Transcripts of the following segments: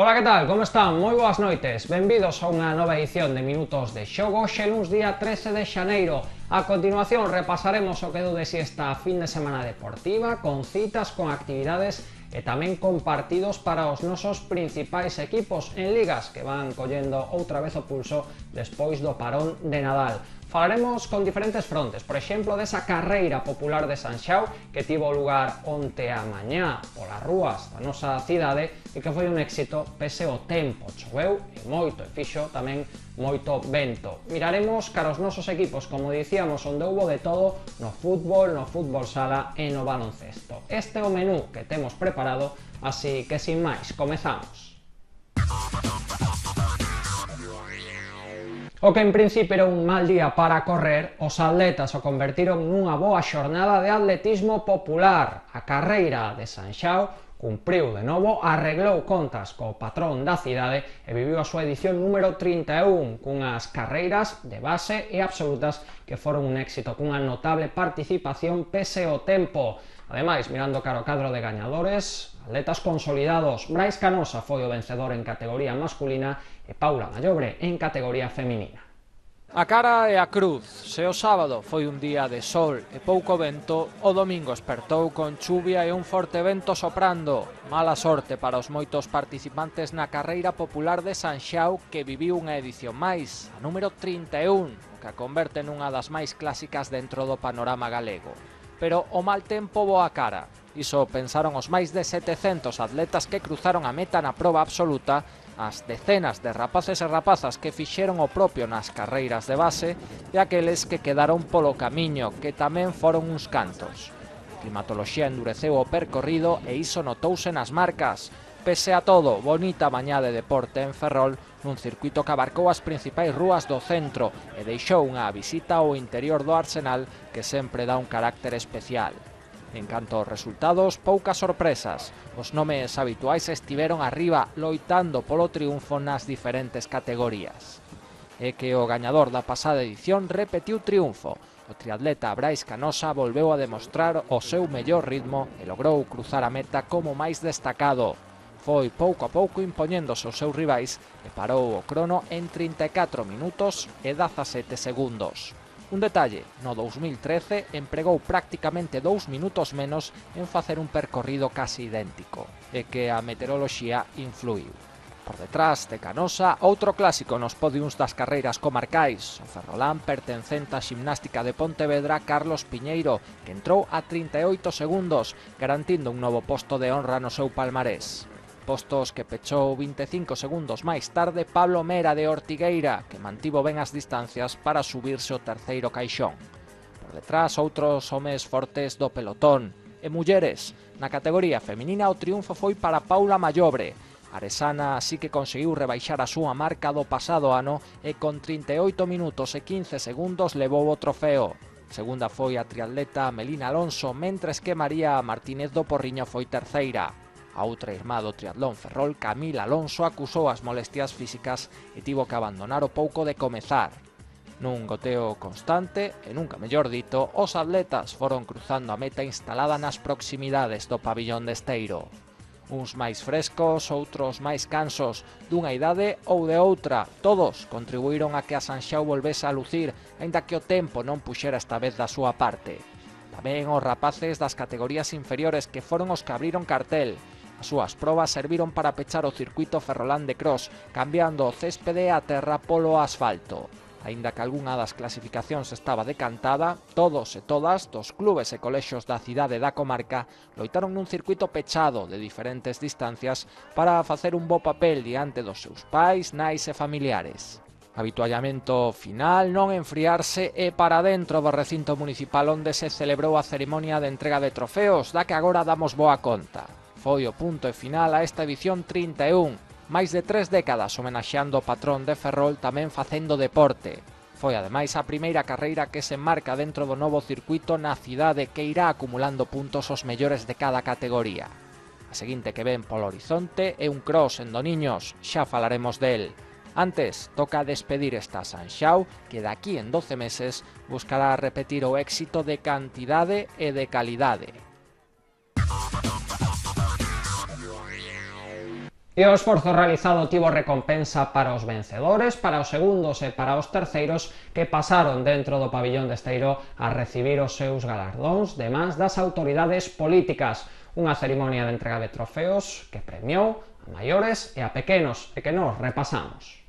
Ola, que tal? Como están? Moi boas noites. Benvidos a unha nova edición de Minutos de Xogo, xe luns día 13 de xaneiro. A continuación repasaremos o que deu de si esta fin de semana deportiva, con citas, con actividades e tamén con partidos para os nosos principais equipos en ligas que van collendo outra vez o pulso despois do parón de Nadal. Falaremos con diferentes frontes, por exemplo, desa carreira popular de Sanxao que tivo lugar onte a mañá polas rúas da nosa cidade e que foi un éxito pese o tempo. Choveu e moito, e fixo tamén moito vento. Miraremos cara aos nosos equipos, como dicíamos, onde houbo de todo no fútbol sala e no baloncesto. Este é o menú que temos preparado, así que sin máis, comezamos. O que en principio era un mal día para correr, os atletas o convertiron nunha boa xornada de atletismo popular. A carreira de Sanxao cumpriu de novo, arreglou contas co patrón da cidade e viviu a súa edición número 31, cunhas carreiras de base e absolutas que foron un éxito, cunha notable participación pese o tempo. Ademais, mirando cara ao cadro de gañadores, atletas consolidados, Brais Canosa foi o vencedor en categoría masculina e Paula Mallobre en categoría feminina. A cara e a cruz, se o sábado foi un día de sol e pouco vento, o domingo espertou con chuvia e un forte vento soprando. Mala sorte para os moitos participantes na carreira popular de Sanxao que viviu unha edición máis, a número 31, que a converte nunha das máis clásicas dentro do panorama galego. Pero o mal tempo boa cara. Iso pensaron os máis de 700 atletas que cruzaron a meta na proba absoluta, as decenas de rapaces e rapazas que fixeron o propio nas carreiras de base e aqueles que quedaron polo camiño, que tamén foron uns cantos. A climatoloxía endureceu o percorrido e iso notouse nas marcas. Pese a todo, bonita mañá de deporte en Ferrol, nun circuito que abarcou as principais rúas do centro e deixou unha visita ao interior do Arsenal que sempre dá un carácter especial. En canto aos resultados, poucas sorpresas. Os nomes habituais estiveron arriba, loitando polo triunfo nas diferentes categorías. É que o gañador da pasada edición repetiu triunfo. O triatleta Brais Canosa volveu a demostrar o seu mellor ritmo e logrou cruzar a meta como máis destacado. Foi pouco a pouco impoñéndose os seus rivais e parou o crono en 34 minutos e 17 segundos. Un detalle, no 2013 empregou prácticamente 2 minutos menos en facer un percorrido casi idéntico, e que a meteoroloxía influiu. Por detrás de Canosa, outro clásico nos podiums das carreiras comarcais, o ferrolán pertencente á Ximnástica de Pontevedra Carlos Piñeiro, que entrou a 38 segundos, garantindo un novo posto de honra no seu palmarés. Postos que pechou 25 segundos máis tarde Pablo Mera de Ortigueira, que mantivo ben as distancias para subirse o terceiro caixón. Por detrás, outros homes fortes do pelotón. E mulleres, na categoría feminina o triunfo foi para Paula Mallobre. A aresana así que conseguiu rebaixar a súa marca do pasado ano e con 38 minutos e 15 segundos levou o trofeo. Segunda foi a triatleta Melina Alonso, mentres que María Martínez do Porriño foi terceira. A outra irmá do triatlón Ferrol, Camila Alonso, acusou as molestias físicas e tivo que abandonar o pouco de comezar. Nun goteo constante, e nunca mellor dito, os atletas foron cruzando a meta instalada nas proximidades do pabillón de Esteiro. Uns máis frescos, outros máis cansos, dunha idade ou de outra, todos contribuíron a que a Sanxao volvese a lucir, aínda que o tempo non puxera esta vez da súa parte. Tamén os rapaces das categorías inferiores que foron os que abriron cartel. As súas probas serviron para pechar o circuito ferrolán de cross, cambiando o céspede a terra polo asfalto. Aínda que algunha das clasificacións estaba decantada, todos e todas dos clubes e colexios da cidade e da comarca loitaron nun circuito pechado de diferentes distancias para facer un bo papel diante dos seus pais, nais e familiares. Habituallamento final, non enfriarse e para dentro do recinto municipal onde se celebrou a cerimonia de entrega de trofeos, da que agora damos boa conta. Foi o punto e final a esta edición 31, máis de 3 décadas homenaxeando o patrón de Ferrol tamén facendo deporte. Foi ademais a primeira carreira que se enmarca dentro do novo circuito na cidade que irá acumulando puntos os mellores de cada categoría. A seguinte que ven polo horizonte é un cross en Doniños, xa falaremos del. Antes, toca despedir esta Sanxao, que daqui en 12 meses buscará repetir o éxito de cantidade e de calidade. E o esforzo realizado tivo recompensa para os vencedores, para os segundos e para os terceiros que pasaron dentro do pabillón de Esteiro a recibir os seus galardóns de mans das autoridades políticas. Unha cerimonia de entrega de trofeos que premiou a maiores e a pequenos e que nos repasamos.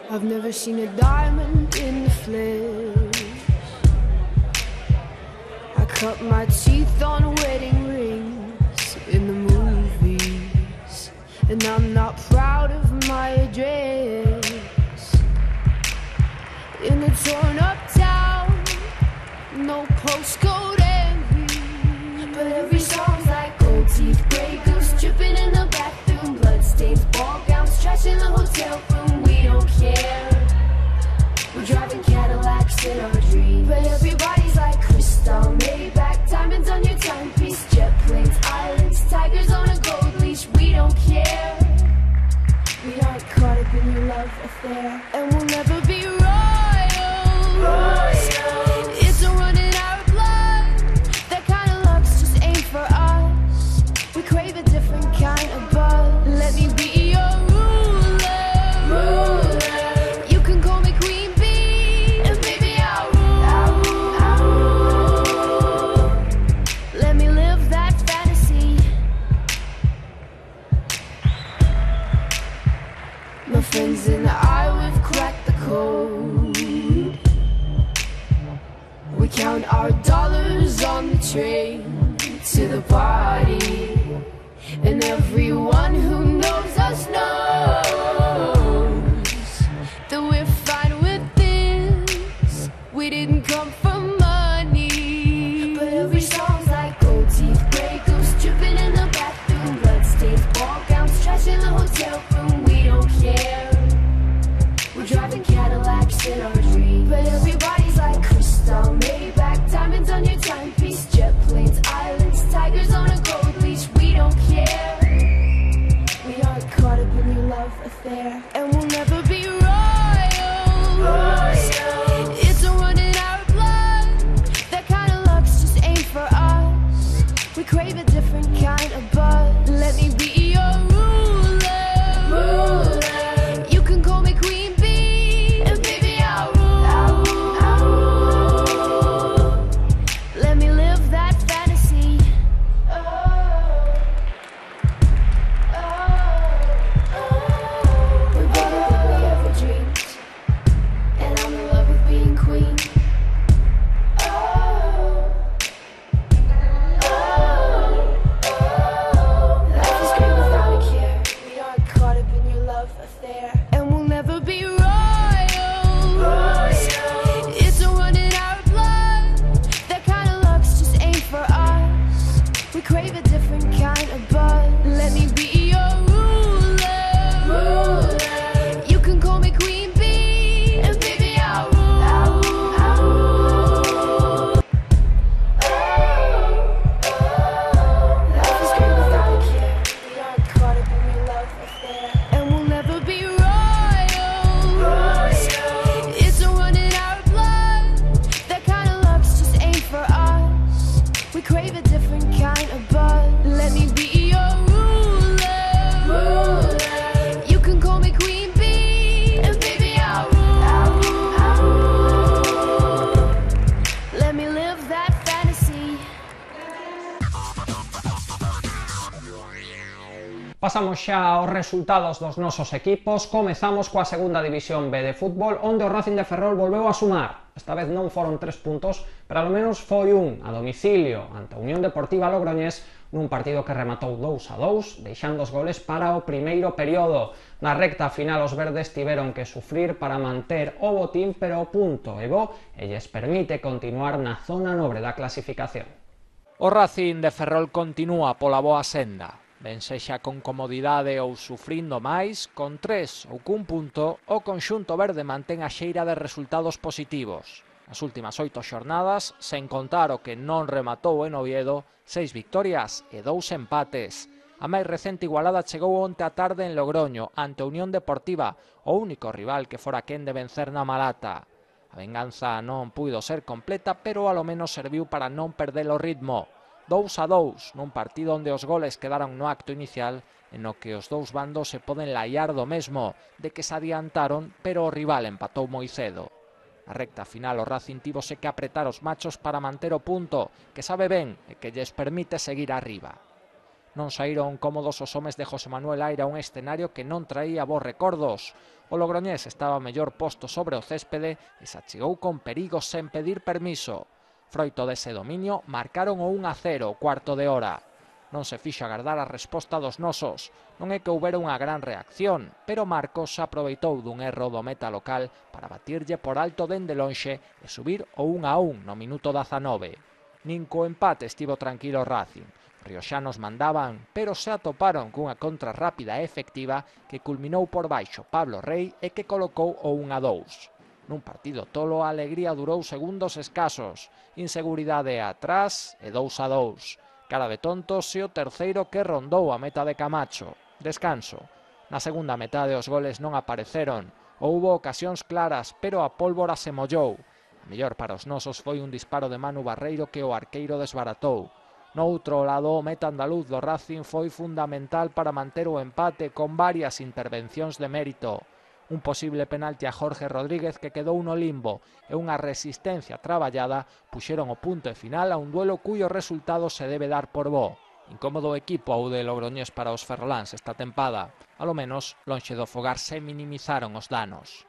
I've never seen a diamond in the flesh. I cut my teeth on wedding rings in the movies, and I'm not proud of my address. In a torn up town, no postcode envy, but every song's like gold teeth, grey goose dripping in the bathroom, bloodstains, ball gowns, trash in the hotel room. We don't care. We're driving Cadillacs in our dreams, but everybody's like crystal, Maybach, diamonds on your timepiece, jet planes, islands, tigers on a gold leash. We don't care. We aren't caught up in your love affair, and we'll never be royals. It's a run in our blood. That kind of luck's just ain't for us. We crave a different kind of buzz. Let me be your ruler. You can call me Queen Bee, and baby I'll rule. Let me live that fantasy. My friends and I, we've cracked the code. We count our dollars on the train to the party, and everyone who knows us knows that we're fine with this. We didn't come for money, but every song's like gold teeth, grey goose dripping in the bathroom, bloodstains, ball gowns, trash in the hotel room. We don't care. We're driving Cadillacs in our dreams, but everybody's like crystal, Maybach, diamonds on your timepiece, jet planes, islands, tigers on a gold leash. We don't care. We aren't caught up in your love affair, and we'll never be royals. It's a run in our blood. That kind of luck's just ain't for us. We crave a different kind of buzz. Let me be your ruler. You can call me Queen Bee, and baby I'll rule. Let me live that fantasy. We're better than we ever dreamed, and I'm in love with being queen. Life is great without a care. We aren't caught up in your love affair, and we'll never be royals. It's a run in our blood. That kind of luck's just ain't for us. We crave a different kind of buzz. Let me be your ruler. You can call me Queen Bee, and baby I'll rule. Life is great without a care. We aren't caught up in your love affair, and we'll never be royals. It's a run in our blood. That kind of luck's just ain't for us. We crave a different kind of buzz. Let me be your ruler. You can call me Queen Bee, and baby I'll rule. Let me live that fantasy. Pasamos xa aos resultados dos nosos equipos. Comezamos coa segunda división B de fútbol, onde o Racing de Ferrol volveu a sumar. Esta vez non foron 3 puntos, pero ao menos foi un a domicilio ante a Unión Deportiva Logroñés nun partido que rematou 2-2, deixando os goles para o primeiro período. Na recta final os verdes tiveron que sufrir para manter o botín, pero o punto é bo e lles permite continuar na zona nobre da clasificación. O Racing de Ferrol continúa pola boa senda. Ben sexa con comodidade ou sufrindo máis, con 3 ou cun punto, o conxunto verde mantén a xeira de resultados positivos. As últimas 8 xornadas, sen contar o que non rematou en Oviedo, 6 victorias e 2 empates. A máis recente igualada chegou onte a tarde en Logroño, ante a Unión Deportiva, o único rival que fora quen de vencer na Malata. A venganza non puido ser completa, pero ao menos serviu para non perder o ritmo. 2-2, nun partido onde os goles quedaron no acto inicial e no que os dous bandos se poden laiar do mesmo, de que se adiantaron, pero o rival empatou moi cedo. Na recta final o Racing tívose que apretar os machos para manter o punto, que sabe ben e que lles permite seguir arriba. Non saíron cómodos os homes de José Manuel Aira a un escenario que non traía bons recordos. O logroñés estaba mellor posto sobre o céspede e se achegou con perigos sen pedir permiso. Froito dese dominio, marcaron o 1-0 o cuarto de hora. Non se fixo agardar a resposta dos nosos. Non é que houbera unha gran reacción, pero Marcos aproveitou dun erro do meta local para batirlle por alto dende lonxe e subir o 1-1 no minuto 19. Nin co empate estivo tranquilo Racing. Rioxanos mandaban, pero se atoparon cunha contra rápida e efectiva que culminou por baixo Pablo Rey e que colocou o 1-2. Nun partido tolo a alegría durou segundos escasos, inseguridade atrás e 2-2. Cara de tontos e o terceiro que rondou a meta de Camacho. Descanso. Na segunda metade os goles non apareceron. Houbo ocasións claras, pero a pólvora se mollou. A mellor para os nosos foi un disparo de Manu Barreiro que o arqueiro desbaratou. No outro lado, o meta andaluz do Racing foi fundamental para manter o empate con varias intervencións de mérito. Un posible penalti a Jorge Rodríguez que quedou no limbo e unha resistencia traballada puxeron o punto e final a un duelo cuyo resultado se debe dar por bo. Incómodo equipo ao de Logroñés para os ferroláns esta tempada. Alo menos, lonxe do fogar se minimizaron os danos.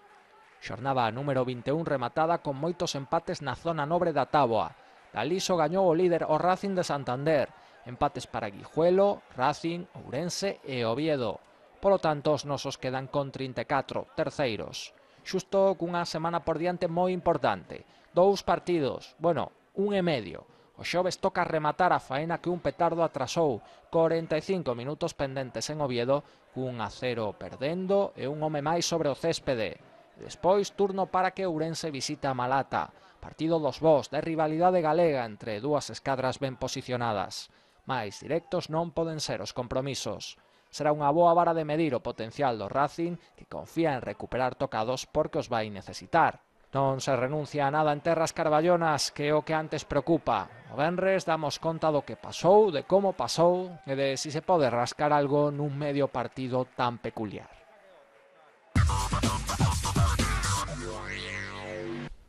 Xornada número 21 rematada con moitos empates na zona nobre da táboa. Daliso gañou o líder o Racing de Santander. Empates para Guijuelo, Racing, Ourense e Oviedo. Polo tanto, os nosos quedan con 34 terceiros. Xusto cunha semana por diante moi importante. 2 partidos, bueno, 1,5. O xoves toca rematar a faena que un petardo atrasou. 45 minutos pendentes en Oviedo, 1-0 perdendo e un home máis sobre o céspede. Despois, turno para que Ourense visita a Malata. Partido dos bos de rivalidade galega entre dúas escadras ben posicionadas. Mais directos non poden ser os compromisos. Será unha boa vara de medir o potencial do Racing, que confía en recuperar tocados porque os vai necesitar. Non se renuncia a nada en terras carballonas, que é o que antes preocupa. O venres damos conta do que pasou, de como pasou e de si se pode rascar algo nun medio partido tan peculiar.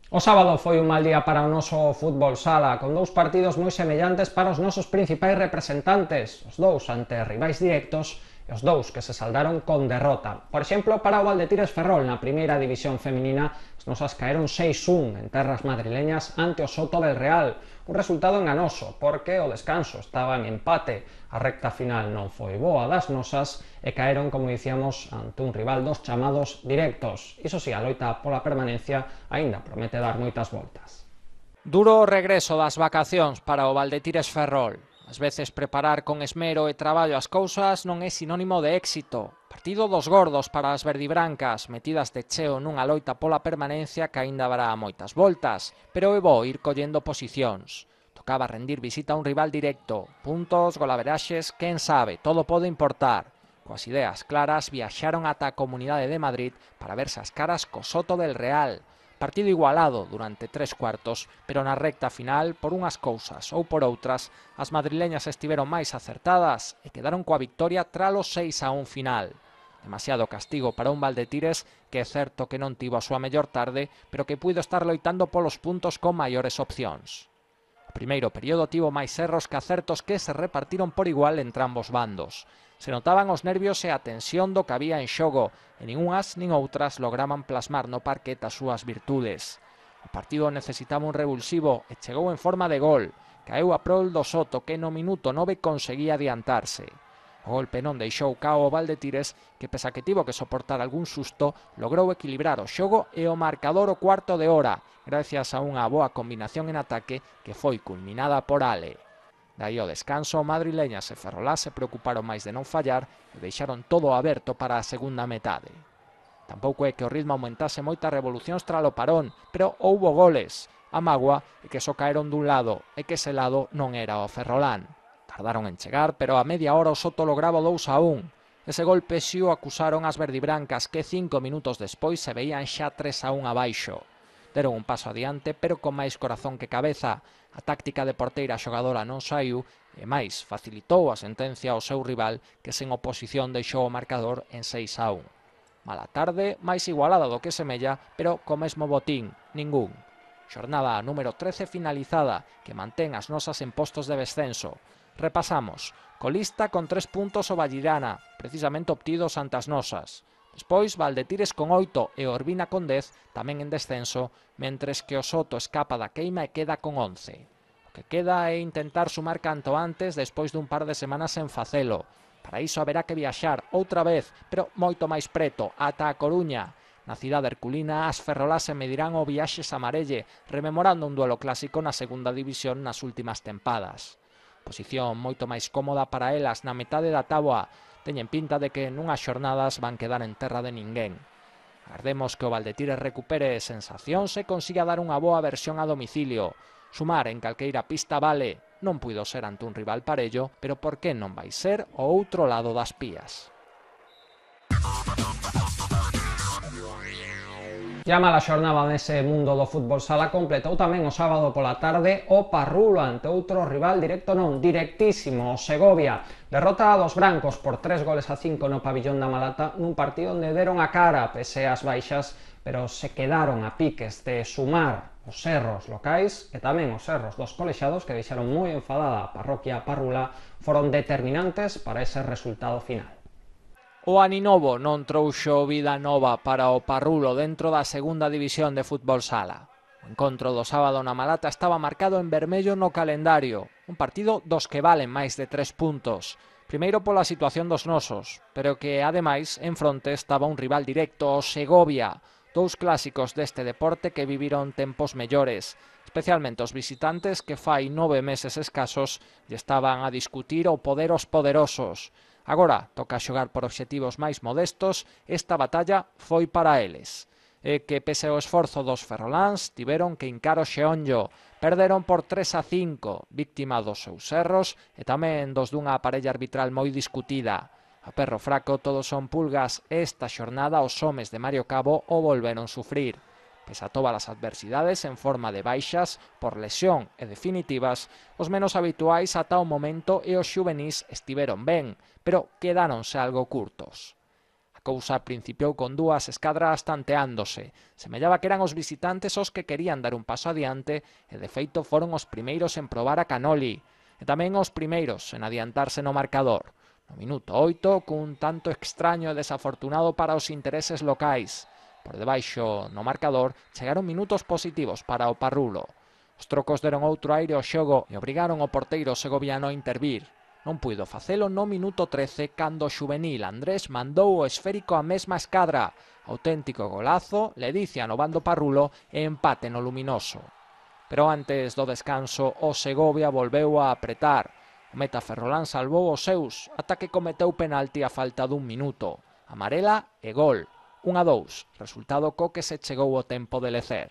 O sábado foi un mal día para o noso fútbol sala, con 2 partidos moi semellantes para os nosos principais representantes, os 2 ante rivais directos e os 2 que se saldaron con derrota. Por exemplo, para o Valdetires Ferrol na primeira división feminina, as nosas caeron 6-1 en terras madrileñas ante o Soto del Real, un resultado enganoso, porque o descanso estaba en empate, a recta final non foi boa das nosas e caeron, como dicíamos, ante un rival dos chamados directos. Iso si, a loita pola permanencia aínda promete dar moitas voltas. Duro regreso das vacacións para o Valdetires Ferrol. Ás veces preparar con esmero e traballo as cousas non é sinónimo de éxito. Partido dos gordos para as verdibrancas, metidas de cheo nunha loita pola permanencia que aínda dará moitas voltas, pero é bo ir collendo posicións. Tocaba rendir visita a un rival directo, puntos, golaveraxes, quen sabe, todo pode importar. Coas ideas claras viaxaron ata a Comunidade de Madrid para verse as caras co Soto del Real. Partido igualado durante 3 cuartos, pero na recta final, por unhas cousas ou por outras, as madrileñas estiveron máis acertadas e quedaron coa victoria tralo 6-1 final. Demasiado castigo para un Valdetires que é certo que non tivo a súa mellor tarde, pero que puido estar loitando polos puntos con maiores opcións. O primeiro período tivo máis erros que acertos que se repartiron por igual entre ambos bandos. Se notaban os nervios e a tensión do que había en xogo, e nin unhas nin outras lograban plasmar no parquet as súas virtudes. O partido necesitaba un revulsivo e chegou en forma de gol. Caeu a prol do Soto que no minuto 9 conseguía adiantarse. O golpe non deixou cao o Valdetires que, pese a que tivo que soportar algún susto, logrou equilibrar o xogo e o marcador o cuarto de hora, gracias a unha boa combinación en ataque que foi culminada por Ale. Daí ao descanso, madrileñas e ferrolás se preocuparon máis de non fallar e deixaron todo aberto para a segunda metade. Tampouco é que o ritmo aumentase moitas revolucións tralo parón, pero houbo goles. A mágoa é que só caeron dun lado e que ese lado non era o ferrolán. Tardaron en chegar, pero a media hora o Soto lograba 2-1. Ese golpe si o acusaron as verdibrancas que 5 minutos despois se veían xa 3-1 abaixo. deron un paso adiante, pero con máis corazón que cabeza. A táctica de porteira xogadora non saiu e máis facilitou a sentencia ao seu rival, que sen oposición deixou o marcador en 6-1. Mala tarde, máis igualada do que semella, pero co mesmo botín, ningún. Xornada número 13 finalizada, que mantén as nosas en postos de descenso. Repasamos. Colista con 3 puntos o Vallirana, precisamente obtidos ante as nosas. Despois, Valdetires con 8 e Orbina con 10, tamén en descenso, mentres que o Soto escapa da queima e queda con 11. O que queda é intentar sumar canto antes despois dun par de semanas en facelo. Para iso haberá que viaxar outra vez, pero moito máis preto, ata a Coruña. Na cidade herculina, as ferrolás se medirán o viaxes a Marelle, rememorando un duelo clásico na segunda división nas últimas tempadas. Posición moito máis cómoda para elas na metade da táboa. Teñen pinta de que nunhas xornadas van quedar en terra de ninguén. Agardemos que o Valdetires recupere sensacións e consiga dar unha boa versión a domicilio. Sumar en calqueira pista vale. Non puido ser ante un rival parello, pero por que non vai ser o outro lado das pías? Llama a xornada nese mundo do fútbol sala, completou tamén o sábado pola tarde o Parrulo ante outro rival directo non, directísimo, o Segovia. Derrota dos brancos por 3-5 no pabillón da Malata nun partido onde deron a cara pese as baixas, pero se quedaron a piques de sumar os erros locais e tamén os erros dos colexados que deixaron moi enfadada a parroquia parrula, foron determinantes para ese resultado final. O Aninovo non trouxo vida nova para o Parrulo dentro da segunda división de fútbol sala. O encontro do sábado na Malata estaba marcado en vermello no calendario, un partido dos que valen máis de 3 puntos. Primeiro pola situación dos nosos, pero que ademais en fronte estaba un rival directo, o Segovia, dous clásicos deste deporte que viviron tempos mellores, especialmente os visitantes que fai 9 meses escasos lle estaban a discutir o poder os poderosos. Agora toca xogar por obxectivos máis modestos, esta batalla foi para eles. E que pese ao esforzo dos ferroláns tiveron que hincar o xeonllo, perderon por 3-5, víctima dos seus erros e tamén dos dunha parella arbitral moi discutida. A perro fraco todos son pulgas e esta xornada os homes de Mario Cabo o volveron sufrir. Pese a todas as adversidades en forma de baixas, por lesión e definitivas, os menos habituais ata o momento e os xuvenís estiveron ben, pero quedáronse algo curtos. A cousa principiou con dúas escadras tanteándose. Semellaba que eran os visitantes os que querían dar un paso adiante e de feito foron os primeiros en probar a Canoli, e tamén os primeiros en adiantarse no marcador. No minuto 8, cun tanto extraño e desafortunado para os intereses locais. Por debaixo no marcador chegaron minutos positivos para o Parrulo. Os trocos deron outro aire ao xogo e obrigaron o porteiro segoviano a intervir. Non puido facelo no minuto 13 cando o xuvenil Andrés mandou o esférico á mesma escadra. Auténtico golazo, ledicia no bando Parrulo e empate no luminoso. Pero antes do descanso o Segovia volveu a apretar. O meta ferrolán salvou os seus ata que cometeu penalti a falta dun minuto. Amarela e gol. 1-2, resultado co que se chegou o tempo de lecer.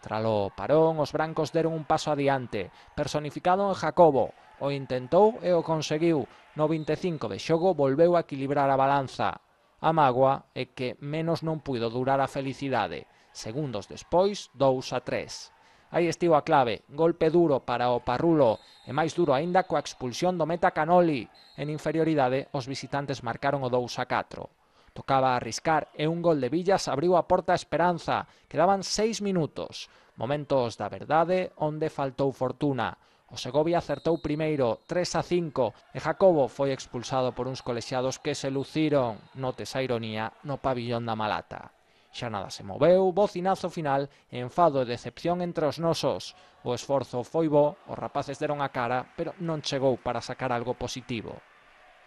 Tralo parón, os brancos deron un paso adiante, personificado en Jacobo. O intentou e o conseguiu. No 25 de xogo volveu a equilibrar a balanza. A mágoa é que menos non puido durar a felicidade. Segundos despois, 2-3. Aí estivo a clave, golpe duro para o Parrulo e máis duro aínda coa expulsión do meta Canoli. En inferioridade, os visitantes marcaron o 2-4. Tocaba arriscar e un gol de Villas abriu a porta a esperanza. Quedaban 6 minutos. Momentos da verdade onde faltou fortuna. O Segovia acertou primeiro 3-5 e Jacobo foi expulsado por uns colexiados que se luciron, notes a ironía, no pabillón da Malata. Xa nada se moveu, bocinazo final e enfado e decepción entre os nosos. O esforzo foi bo, os rapaces deron a cara, pero non chegou para sacar algo positivo.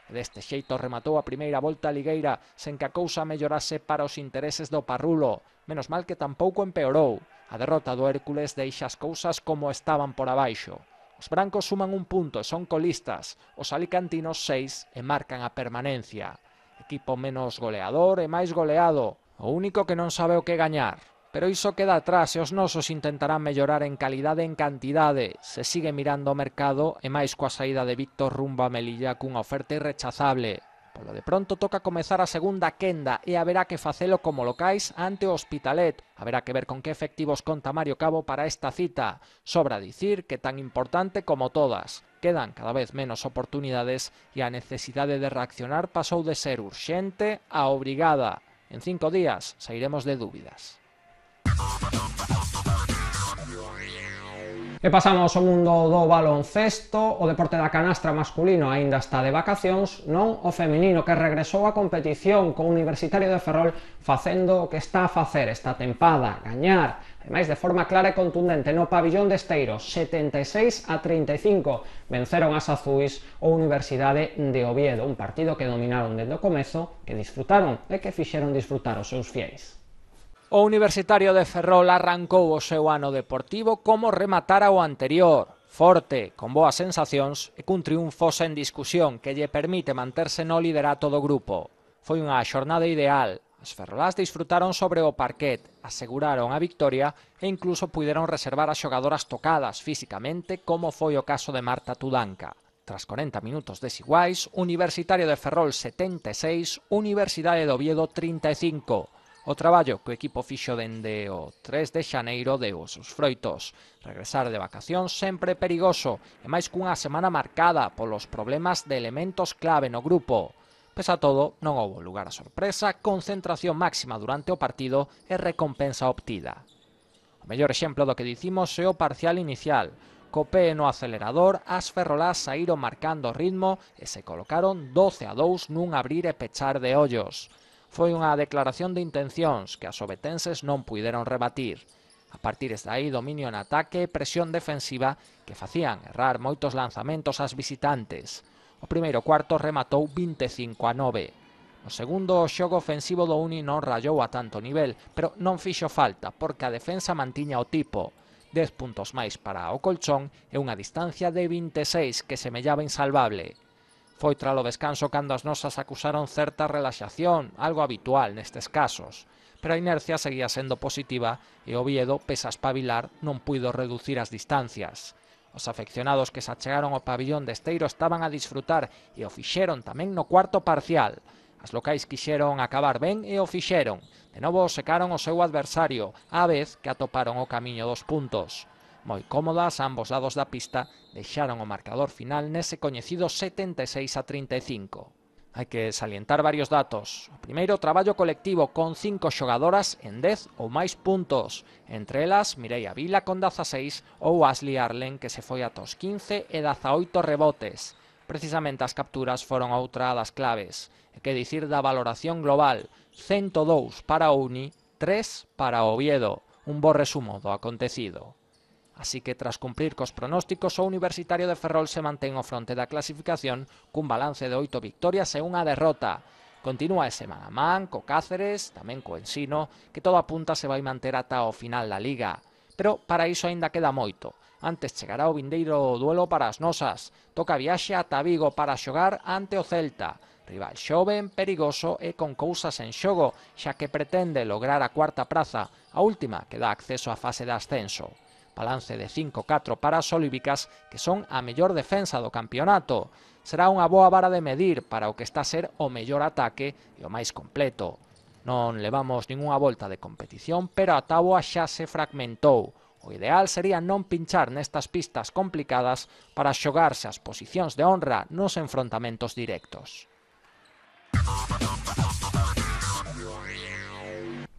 Deste xeito rematou a primeira volta ligueira sen que a cousa mellorase para os intereses do Parrulo. Menos mal que tampouco empeorou. A derrota do Hércules deixa as cousas como estaban por abaixo. Os brancos suman un punto e son colistas. Os alicantinos 6 e marcan a permanencia. Equipo menos goleador e máis goleado. O único que non sabe o que gañar. Pero iso queda atrás e os nosos intentarán mellorar en calidade e en cantidade. Se sigue mirando o mercado e máis coa saída de Víctor rumbo a Melilla cunha oferta irrechazable. Polo de pronto toca comezar a segunda quenda e haberá que facelo como locais ante o Hospitalet. Haberá que ver con que efectivos conta Mario Cabo para esta cita. Sobra dicir que tan importante como todas. Quedan cada vez menos oportunidades e a necesidade de reaccionar pasou de ser urxente a obrigada. En 5 días sairemos de dúbidas. E pasamos ao mundo do baloncesto. O deporte da canastra masculino aínda está de vacacións, non o feminino, que regresou á competición co Universitario de Ferrol facendo o que está a facer esta tempada, gañar, ademais de forma clara e contundente no pabillón de Esteiro, 76-35, venceron as azuis o Universidade de Oviedo, un partido que dominaron dende o comezo, que disfrutaron e que fixeron disfrutar os seus fiéis. O Universitario de Ferrol arrancou o seu ano deportivo como rematara o anterior, forte, con boas sensacións e cun triunfo sen discusión que lle permite manterse no liderato do grupo. Foi unha xornada ideal, as ferrolás disfrutaron sobre o parquet, aseguraron a victoria e incluso puideron reservar as xogadoras tocadas físicamente, como foi o caso de Marta Tudanca. Tras 40 minutos desiguais, Universitario de Ferrol 76, Universidade de Oviedo 35. O traballo que o equipo fixo dende o 3 de xaneiro deu os seus froitos. Regresar de vacacións sempre perigoso, e máis cunha semana marcada polos problemas de elementos clave no grupo. Pese a todo, non houbo lugar a sorpresa, concentración máxima durante o partido e recompensa obtida. O mellor exemplo do que dicimos é o parcial inicial. Co pé no acelerador, as ferrolás saíron marcando o ritmo e se colocaron 12-2 nun abrir e pechar de ollos. Foi unha declaración de intencións que as obetenses non puideron rebatir. A partir de aí, dominio en ataque e presión defensiva que facían errar moitos lanzamentos ás visitantes. O primeiro cuarto rematou 25-9. No segundo, o xogo ofensivo do Uni non rallou a tanto nivel, pero non fixo falta porque a defensa mantiña o tipo. 10 puntos máis para o colchón e unha distancia de 26 que semellaba insalvable. Foi tralo descanso cando as nosas acusaron certa relaxación, algo habitual nestes casos, pero a inercia seguía sendo positiva e Oviedo, pese a espabilar, non puido reducir as distancias. Os afeccionados que se achegaron ao pabillón de Esteiro estaban a disfrutar e o fixeron tamén no cuarto parcial. As locais quixeron acabar ben e o fixeron. De novo secaron o seu adversario, á vez que atoparon o camiño dos puntos. Moi cómodas, ambos lados da pista deixaron o marcador final nese coñecido 76-35. Hai que salientar varios datos. O primeiro, traballo colectivo con 5 xogadoras en 10 ou máis puntos. Entre elas, Mireia Vila con 16 ou Ashley Arlen, que se foi ata os 15 e 18 rebotes. Precisamente as capturas foron outra das claves. E que dicir da valoración global, 102 para o Uni, 3 para o Oviedo. Un bo resumo do acontecido. Así que, tras cumprir cos pronósticos, o Universitario de Ferrol se mantén ao fronte da clasificación cun balance de 8 victorias e unha derrota. Continúa ese man a man co Cáceres, tamén co Ensino, que todo apunta se vai manter ata o final da Liga. Pero para iso aínda queda moito. Antes chegará o vindeiro duelo para as nosas. Toca viaxe ata Vigo para xogar ante o Celta. Rival xoven, perigoso e con cousas en xogo, xa que pretende lograr a cuarta praza, a última que dá acceso á fase de ascenso. Balance de 5-4 para as olívicas, que son a mellor defensa do campeonato. Será unha boa vara de medir para o que está a ser o mellor ataque e o máis completo. Non levamos ningunha volta de competición, pero a táboa xa se fragmentou. O ideal sería non pinchar nestas pistas complicadas para xogarse as posicións de honra nos enfrontamentos directos.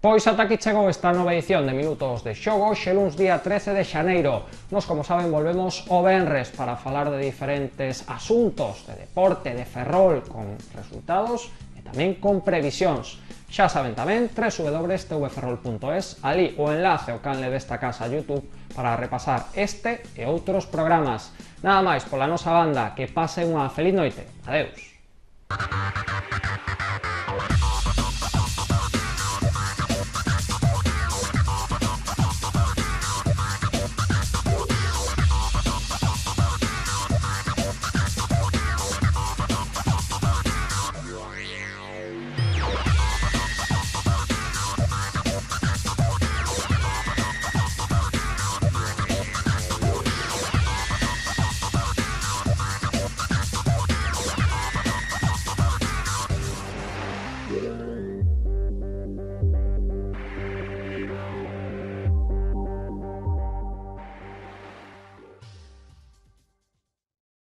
Pois ata aquí chegou esta nova edición de Minutos de Xogo, xe luns día 13 de xaneiro. Nos, como saben, volvemos o venres para falar de diferentes asuntos de deporte, de Ferrol, con resultados e tamén con previsións. Xa saben tamén, www.tvferrol.es, ali o enlace ao canle desta casa YouTube para repasar este e outros programas. Nada máis pola nosa banda, que pase unha feliz noite. Adeus.